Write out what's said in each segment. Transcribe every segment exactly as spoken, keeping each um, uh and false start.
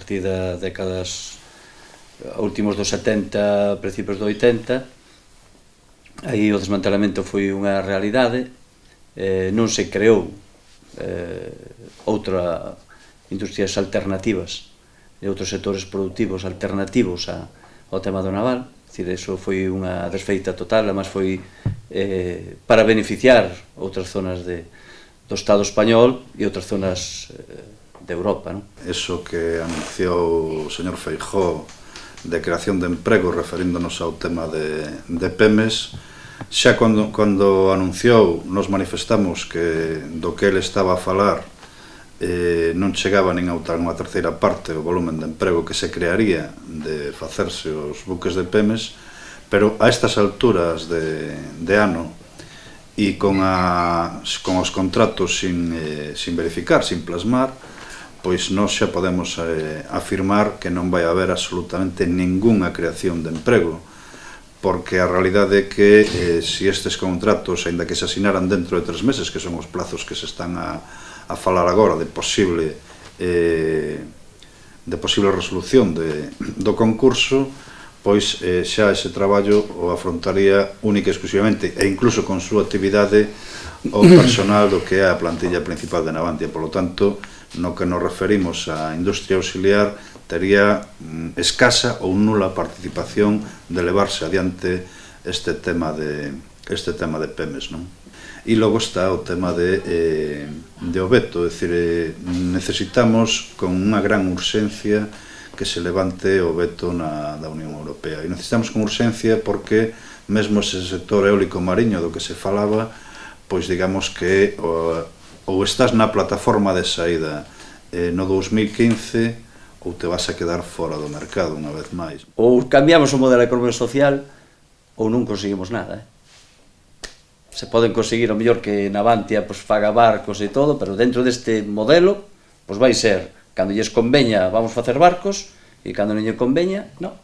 partir das décadas últimos dos setenta, principios do oitenta, aí o desmantelamento foi unha realidade, eh, non se creou eh, outra industrias alternativas e outros sectores productivos alternativos a, ao tema do naval, é dicir, eso foi unha desfeita total, además foi eh, para beneficiar outras zonas de, do Estado español e outras zonas eh, de Europa, non? Eso que anunciou o señor Feijóo de creación de emprego, referíndonos ao tema de, de Pemex, xa cando, cando anunciou, nos manifestamos que do que ele estaba a falar eh, non chegaba nin a unha terceira parte o volumen de emprego que se crearía de facerse os buques de Pemex, pero a estas alturas de, de ano e con, a, con os contratos sin, eh, sin verificar, sin plasmar, pois nós xa podemos eh, afirmar que non vai haber absolutamente ningunha creación de emprego, porque a realidade é que eh, se estes contratos, aínda que se asinaran dentro de tres meses, que son os plazos que se están a, a falar agora de posible eh, de posible resolución de, do concurso, pois eh, xa ese traballo o afrontaría única e exclusivamente, e incluso con súa actividade, o personal do que é a plantilla principal de Navantia. Por lo tanto, no que nos referimos á industria auxiliar, tería mm, escasa ou nula participación de levarse adiante este tema de, este tema de Pemex, non? E logo está o tema de, eh, de o veto, é dicir, eh, necesitamos con unha gran urxencia que se levante o veto na, da Unión Europea. E necesitamos con urxencia porque mesmo ese sector eólico mariño do que se falaba, pois digamos que o, ou estás na plataforma de saída eh, no dos mil quince ou te vas a quedar fora do mercado unha vez máis. Ou cambiamos o modelo económico social ou non conseguimos nada. Eh? Se poden conseguir o mellor que Navantia pues, faga barcos e todo, pero dentro deste modelo pues, vai ser, cando lles conveña vamos facer barcos e cando non lle conveña, non.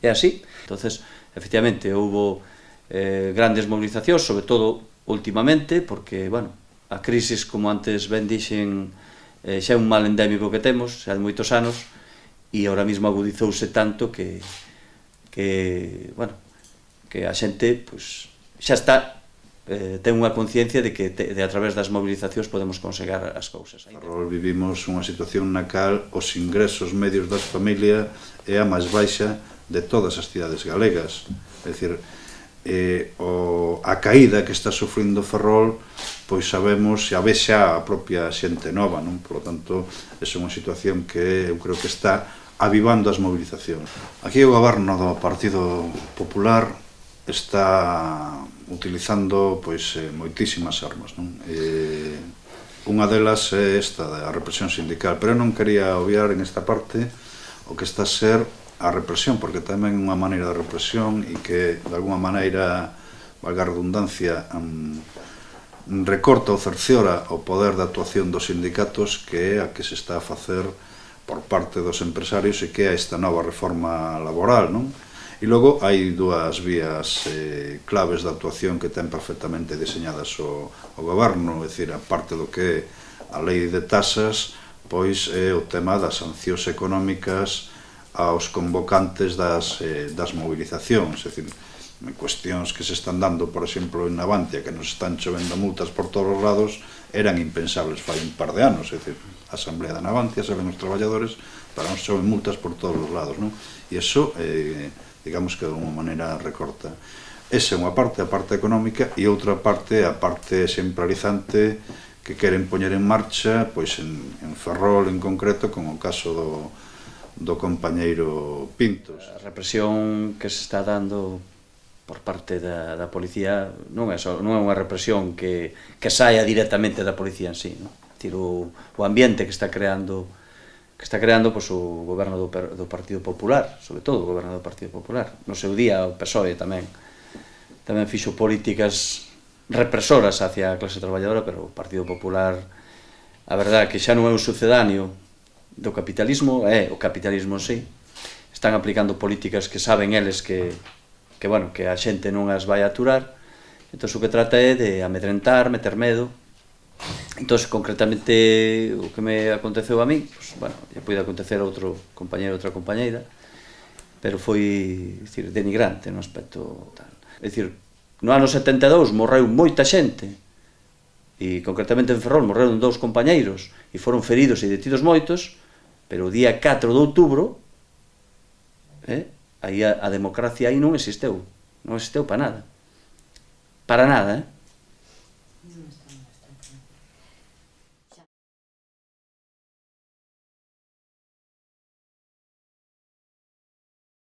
É así. Entonces, efectivamente, houve eh, grandes movilizacións, sobre todo últimamente, porque, bueno, a crisis, como antes ben dixen, eh, xa é un mal endémico que temos, xa de moitos anos, e ahora mesmo agudizouse tanto que, que bueno, que a xente, pois, xa está, eh, ten unha conciencia de que te, de a través das movilizacións podemos conseguir as cousas. Ferrol vivimos unha situación na cal os ingresos medios das familias é a máis baixa de todas as cidades galegas, é dicir, Eh, o, a caída que está sufrindo Ferrol, pois sabemos, xa ve xa a propia xente nova, non? Por lo tanto, é unha situación que eu creo que está avivando as movilizacións. Aquí o goberno do Partido Popular está utilizando pois eh, moitísimas armas, non? Eh, unha delas é esta, a represión sindical, pero eu non quería obviar en esta parte o que está a ser a represión, porque tamén é unha maneira de represión e que, de alguma maneira, valga a redundancia, um, recorta ou cerciora o poder de actuación dos sindicatos, que é a que se está a facer por parte dos empresarios e que é esta nova reforma laboral, non? E logo hai dúas vías eh, claves de actuación que ten perfectamente diseñadas o, o goberno, é dicir, a parte do que é a lei de tasas, pois é o tema das sancións económicas aos convocantes das, eh, das movilizacións, é dicir, cuestións que se están dando, por exemplo, en Navantia, que nos están chovendo multas por todos os lados, eran impensables fai un par de anos, é dicir, a Asamblea de Navantia, saben os traballadores, para nos choven multas por todos os lados, non? E iso, eh, digamos que de unha maneira recorta. Esa é unha parte, a parte económica, e outra parte, a parte exemplarizante, que queren poñer en marcha, pois en, en Ferrol en concreto, con o caso do do compañeiro Pintos. A represión que se está dando por parte da, da policía non é, só, non é unha represión que, que saia directamente da policía en sí, non? Decir, o, o ambiente que está creando que está creando pois, o goberno do, do Partido Popular, sobre todo o goberno do Partido Popular. No seu día o P S O E tamén tamén fixo políticas represoras hacia a clase traballadora, pero o Partido Popular, a verdade que xa non é un sucedáneo do capitalismo, é o capitalismo en sí, están aplicando políticas que saben eles que, que, bueno, que a xente non as vai aturar, entón o que trata é de amedrentar, meter medo, Entón, concretamente, o que me aconteceu a mí, pues, bueno, lle pode acontecer a outro compañeiro, outra compañeira, pero foi, dicir, denigrante no aspecto tal. É dicir, no ano setenta e dous morreu moita xente, e concretamente en Ferrol morreron dous compañeiros, e foron feridos e detidos moitos, pero o día catro de outubro, eh, aí a, a democracia aí non existeu, non existeu para nada. Para nada, eh?